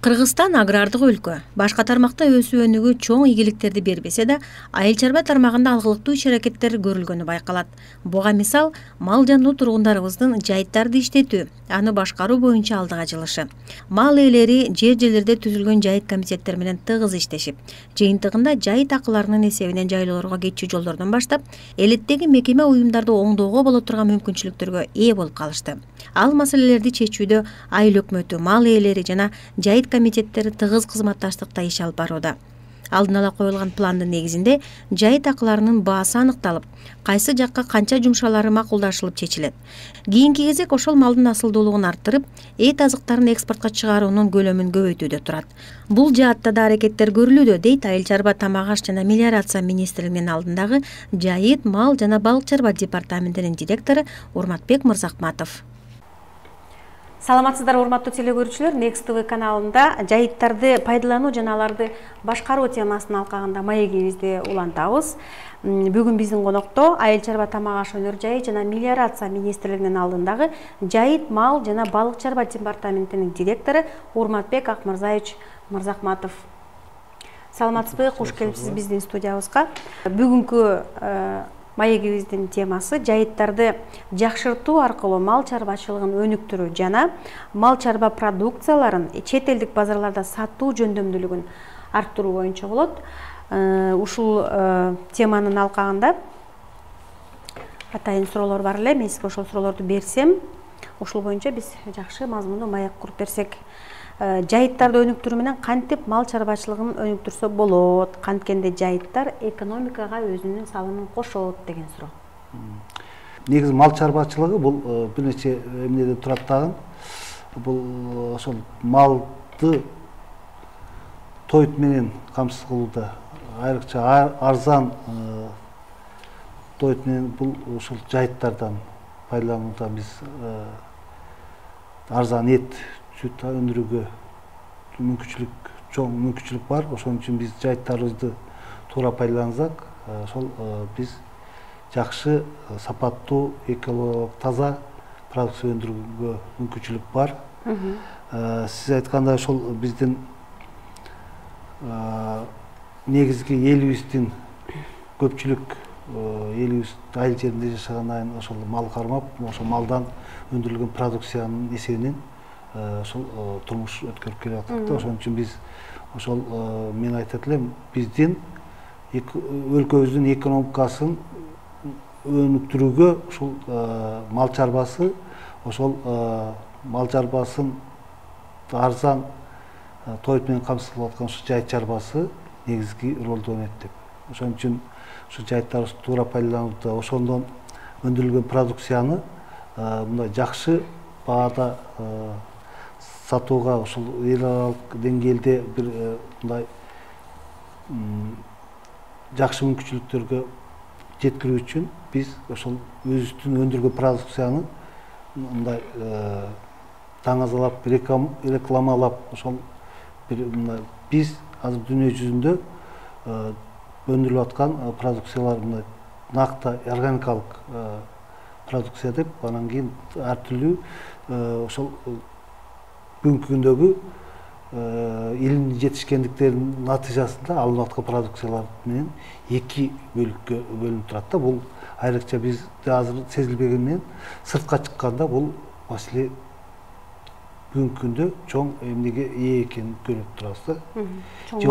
Кыргызстан агрардык өлкө. Башка тармакта өсүү өнүгүү чоң ийгиликтерди бербесе да, айыл чарба тармагында алгылыктуу иш-аракеттер көрүлгөнү байкалат. Буга мисал мал жануу тургундарыбыздын жайыттарды иштетүү, аны башкаруу боюнча алдыга жылышы. Мал ээлери жер-жерлерде түзүлгөн жайыт комитеттер менен тыгыз иштешип, жыйынтыгында жайыт акыларынын эсебинен жайлоолорго кетчү жолдордон баштап, элеттеги мекеме уюмдарды оңдоого боло турган мүмкүнчүлүктөргө ээ болуп калышты. Ал маселелерди чечүүдө айыл өкмөтү, мал ээлери жана жайыт комитеттери тыгыз кызматташтыкта иш алып барууда. Алдын ала коюлган пландын негизинде жайыт акыларынын баасы аныкталып, кайсы жакка канча жумшалары макулдашылып чечилет. Кийинки кезек ошол малдын асылдуулугун арттырып, эт азыктарын экспортко чыгаруунун көлөмүн көбөйтүүдө турат. Бул жаатта да аракеттер көрүлүүдө, дейт Айыл чарба, тамак аш жана мелиорация министрлигинин алдындагы жайыт, мал жана балык чарба департаментинин директору Урматбек Мырзахматов. Саламатсыздар, урматтуу теле көрүүчүлөр. Next TV каналында жайыттарды пайдалануу жана аларды башкаруу темасын алкагында маегибизди улантабыз. Бүгүн биздин конокто Айыл чарба, тамак аш өнөр жайы жана мелиорация министрлигинин алдындагы жайыт, мал жана балык чарба департаментинин директору Урматбек Акмырзаевич Мырзахматов. Саламатсызбы, куш келипсиз биздин студиябызга. Бүгүнкү маегибиздин темасы жайыттарды жакшыртуу аркылуу мал чарбачылыгын өнүктүрүү жана мал чарба продукцияларын чет элдик базарларда сатуу жөндөмдүүлүгүн арттыруу боюнча болот. Ушул теманын алкагында атайын суроолор бар эле. Мен сизге ошол суроолорду берсем, ошол боюнча биз жакшы мазмундуу маек куруп берсек. Жайыттарды өнүктүрүү менен кантип мал чарбачылыгын өнүктүрсө болот, канткенде жайыттар экономикага өзүнүн салымын кошот деген суроо. Негизи мал чарбачылыгы бул бир нече эмнеден турат дагы. Бул ошол малды тоют менен камсыз кылууда, айрыкча арзан тоют менен бул ушул жайыттардан пайдаланууда биз арзан эт сүт өндүрүүгө чоң мүмкүнчүлүк бар. Ошон үчүн биз жайыттарыбызды туура пайдалансак, ошол биз жакшы, сапаттуу, экологиялык таза продукция өндүрүүгө мүмкүнчүлүк бар. Сиз айткандай ошол биздин негизги элибиздин көпчүлүк элибиз айыл жеринде жашаган айын ошол мал кармап, ошол малдан өндүрүлгөн продукциянын эсебинен ошол турмуш өткөрүп келе жатат да. Ошон үчүн биз ошол мен айтат элем, биздин өлкөбүздүн экономикасын өнүктүрүүгө ушул мал чарбасы, ошол мал чарбасын арзан тоют менен камсыз кылып аткан ушул жайыт чарбасы негизги ролду ойнойт деп. Ошон үчүн ушул жайыттарыбызды туура пайдаланууда, ошондон өндүрүлгөн продукцияны мындай жакшы баада сатууга, ушул эл аралык деңгээлде бир мындай жакшы мүмкүнчүлүктөргө жеткирүү үчүн биз ошол өзүбүздүн өндүргөн продукцияны мындай таңазалап, рекламалап, ошол бир биз азыр дүйнө жүзүндө өндүрүлүп аткан продукциялар мындай накта органикалык продукция деп, анан кийин ар түрдүү ошол бүгүнкү күндөгү илимдин жетишкендиктеринин натыйжасында алынып аткан продукциялар менен эки бөлүккө бөлүнүп турат да. Бул айрыкча бизде азыр сезилбеген менен сыртка чыкканда бул маселе бүгүнкү күндө чоң эмнеге ээ экенин көрүп турабыз да. Чоң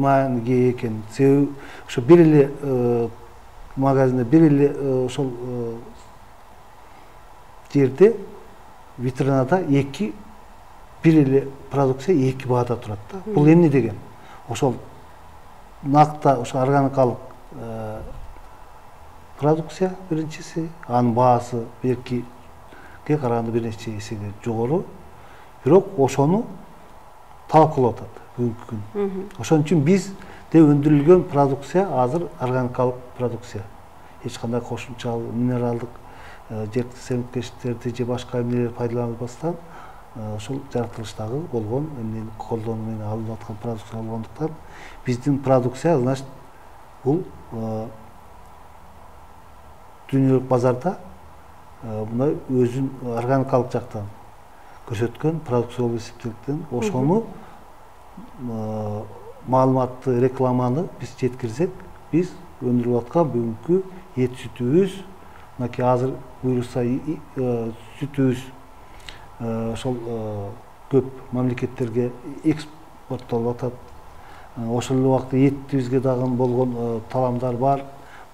мааниге ээ экен. Себеби ошо бир эле магазинде, бир эле ошол жерде витринада бир эле продукция эки баада турат да. Бул эмне деген? Ошол накта, ошол органикалык продукция биринчиси, анын баасы беркиге караганда бир нече эсеге жогору. Бирок ошону талап кылып атат бүгүнкү күн. Ошон үчүн бизде өндүрүлгөн продукция азыр органикалык продукция. Эч кандай кошумча минералдык жер семирткичтерди же башка эмнелерди пайдаланбастан ошол жаратылыштагы болгон эмнени колдонуу менен алынып аткан продукция болгондуктан биздин продукция, значит, бул дүйнөлүк базарда мындай өзүн органикалык жактан көрсөткөн продукция болуп эсептелген. Ошону маалыматты, рекламаны биз жеткирсек, биз өндүрүп аткан бүгүнкү эт сүтүбүз, мынакей азыр буюрса сүтүбүз ошол көп мамлекеттерге экспорттолуп атат. Ошол эле убакта этибизге дагы болгон таламдар бар.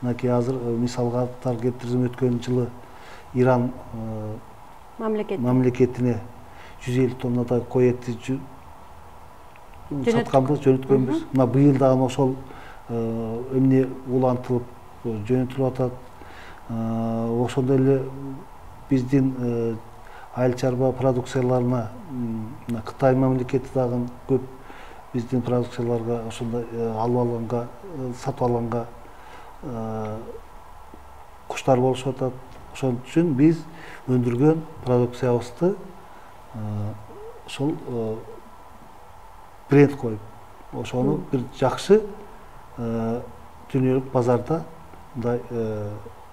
Мынакей азыр мисалга аттар келтирсем, өткөн жылы Иран мамлекетине 150 тоннадай кой эти сатканбыз, жөнөткөнбүз. Мына быйыл дагы ошол эмне улантылып жөнөтүлүп атат. Ошондой эле биздин айыл чарба продукцияларына Кытай мамлекети дагы көп биздин продукцияларга ошондой алып алганга, сатып алганга куштар болушуп атат. Ошон үчүн биз өндүргөн продукциябызды ошол бренд коюп, ошону бир жакшы дүйнөлүк базарда мындай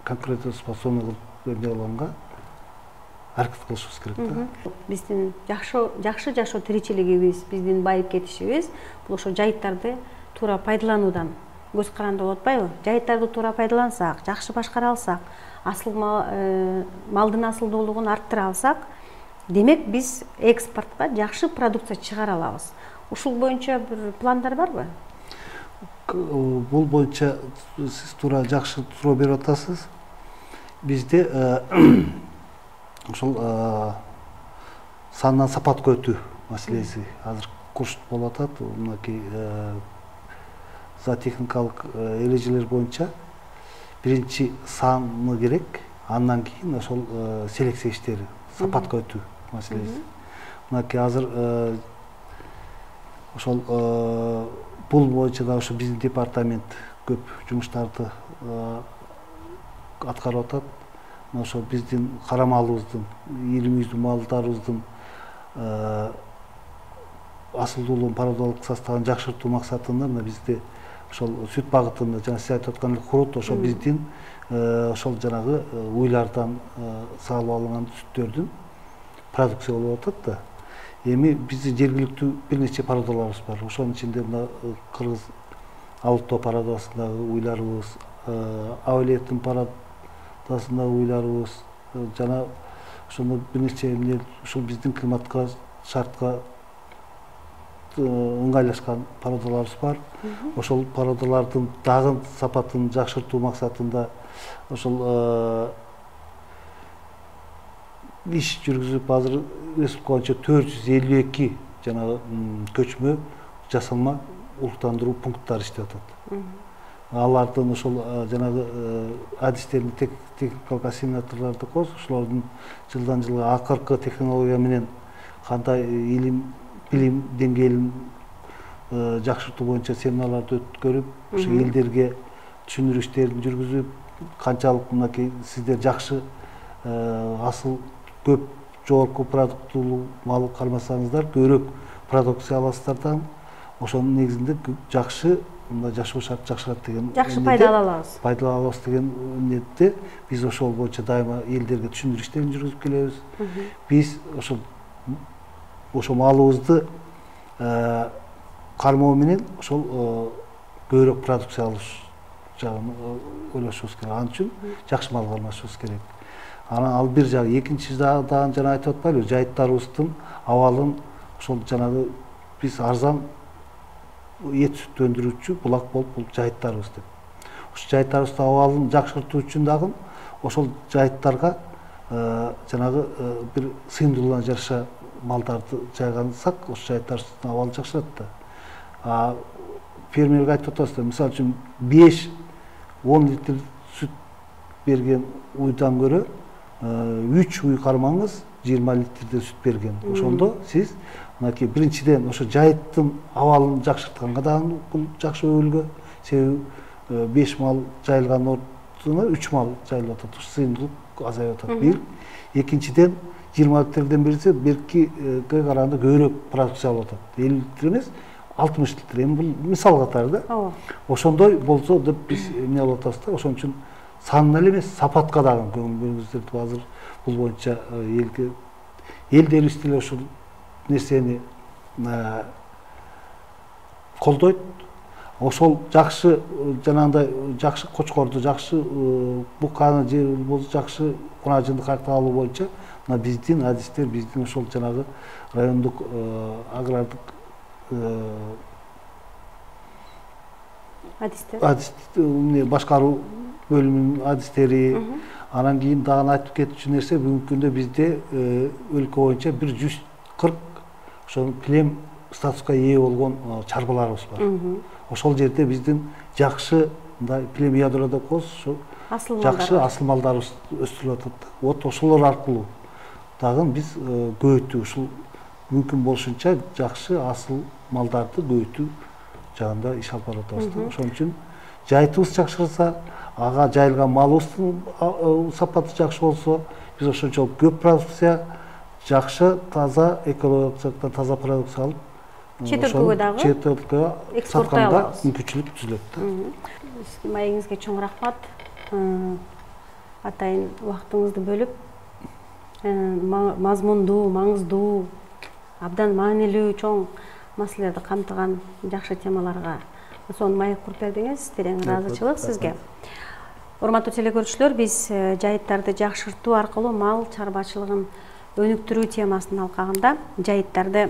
конкурентоспособный кылып эмне болгонго аракет кылышыбыз керек да. Биздин жакшы жашоо тиричилигибиз, биздин байып кетишибиз бул ошо жайыттарды туура пайдалануудан көз каранды болуп атпайбы? Жайыттарды туура пайдалансак, жакшы башкара алсак, асыл малдын асылдуулугун арттыра алсак, демек биз экспортко жакшы продукция чыгара алабыз. Ушул боюнча бир пландар барбы? Бул боюнча сиз туура жакшы суроо берип атасыз. Бизде ошол сандан сапатка өтүү маселеси азыр курс болуп атат. Мынакей зоотехникалык эрежелер боюнча биринчи саны керек, андан кийин ошол селекция иштери, сапатка өтүү маселеси. Мынакей азыр ошол бул боюнча да ошо биздин департамент көп жумуштарды аткарып атат. Ошо биздин кара малыбыздын, ийрим малдарыбыздын асылдуулугун, пародалык составын жакшыртуу максатында бизде ошол сүт багытында жана сиз айтып аткан хурут ошо биздин ошол жанагы уйлардан саалып алынган сүттөрдүн продукция болуп атат да. Эми биздин жергиликтүү бир нече пародаларыбыз бар. Ошонун ичинде мына кыргыз Алто пародасындагы уйларыбыз, Авлиеттин пародасындагы уйларыбыз жана ошондо бир нече эмне ушул биздин климатка, шартка ыңгайлашкан пародаларыбыз бар. Ошол пародалардын дагы сапатын жакшыртуу максатында ошол иш жүргүзүп азыр республика боюнча 452 жанагы көчмө жасалма улуктандыруу пункттары иштеп атат. Алардын ошол жанагы адистерин, техникалык ассимиляторлорду коз, ошолордун жылдан жылга акыркы технология менен кандай илим, билим деңгээлин жакшыртуу боюнча семиналарды өткөрүп, ошо элдерге түшүндүрүү иштерин жүргүзүп, канчалык мынакей сиздер жакшы асыл көп жогорку продуктуулуу мал кармасаңыздар, көбүрөөк продукция аласыздар, ошонун негизинде жакшы мындай жашоо шарт жакшырат деген жакшы пайда ала алабыз. Пайда ала алабыз деген ниетте биз ошол боюнча дайыма элдерге түшүндүрүү иштерин жүргүзүп келебиз. Биз ошол малыбызды кармоо менен ошол көбүрөөк продукция алыш жагын ойлошубуз керек. Ал үчүн жакшы мал кармашыбыз керек. Анан ал бир жагы, экинчи жагы жана айтып атпайлыбы, жайыттарыбыздын абалын ошол жанагы биз арзан эт сүт өндүрүүчү булак болуп бул жайыттарыбыз деп. Ошол жайыттарыбыздын абалын жакшыртуу үчүн дагы ошол жайыттарга жанагы бир сыйымдуулугуна жараша малдарды жайгансак, ошол жайыттарыбыздын абалы жакшырат да. Фермерге айтып атасыздар, мисалы үчүн 5-10 литр сүт берген уйдан көрө 3 уй кармаңыз 20 литрде сүт берген. Ошондо сиз мынакей биринчиден ошо жайыттын абалын жакшыртканга дагы бул жакшы өбөлгө. Себеби 5 мал жайылган ордуна 3 мал жайылып атат. Сыйымдуулук азайып атат. Бир. Экинчиден 20 литрден берсе, беркиге караганда көбүрөөк продукция алып атат. 50 литр эмес, 60 литр. Эми бул мисал катары да. Ошондой болсо деп биз эмне алып атабыз да. Ошон үчүн санына эле эмес, сапатка дагы көңүл бөлүңүздөр. Азыр бул боюнча элдерибиз деле ушул нерсени колдойт. Ошол жакшы жанагындай жакшы кочкорду, жакшы буканы же болбосо жакшы кунажынды кайта алуу боюнча мына биздин адистер, биздин ошол жанагы райондук агрардык адистер башкаруу бөлүмүнүн адистери, анан кийин дагы айтып кетчү нерсе бүгүнкү күндө бизде өлкө боюнча 140 ошол килем статуска ээ болгон чарбаларыбыз бар. Ошол жерде биздин жакшы мындай килем ядро деп коебуз, ошо жакшы асыл малдарыбыз өстүрүлүп атат. Вот ошолор аркылуу дагы биз көбөйтүү, ушул мүмкүн болушунча жакшы асыл малдарды көбөйтүү жагында иш алып баратабыз. Ошон үчүн жайытыбыз жакшырса, ага жайылган малыбыздын сапаты жакшы болсо, биз ошончолук көп продукция, жакшы, таза, экологиялык таза продукция алып, чет өлкөгө дагы чет өлкөгө сатканда мүмкүнчүлүк түзүлөт. Маегиңизге чоң рахмат. Атайын убактыңызды бөлүп, мазмундуу, маңыздуу, абдан маанилүү чоң маселелерди камтыган жакшы темаларга сонун маек куруп бердиңиз. Терең ыраазычылык сизге. Урматтуу телекөрүүчүлөр, биз жайыттарды жакшыртуу аркылуу мал чарбачылыгын өнүктүрүү темасынын алкагында жайыттарды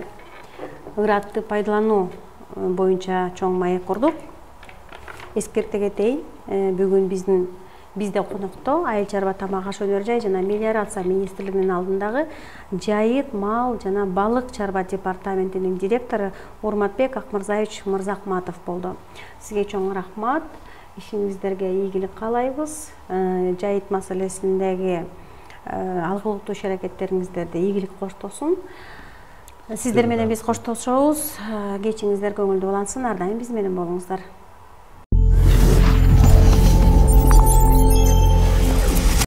ыраттуу пайдалануу боюнча чоң маек курдук. Эскерте кетейин, бүгүн бизде конокто Айыл чарба тамак аш өнөр жай жана мелиорация министрлигинин алдындагы жайыт, мал жана балык чарба департаментинин директору Урматбек Акмырзаевич Мырзахматов болду. Сизге чоң рахмат. Ишиңиздерге ийгилик каалайбыз. Жайыт маселесиндеги алгылыктуу иш-аракеттериңиздерди ийгилик коштосун. Сиздер менен биз коштошобуз. Кечиңиздер көңүлдүү улансын. Ар дайым биз менен болуңуздар.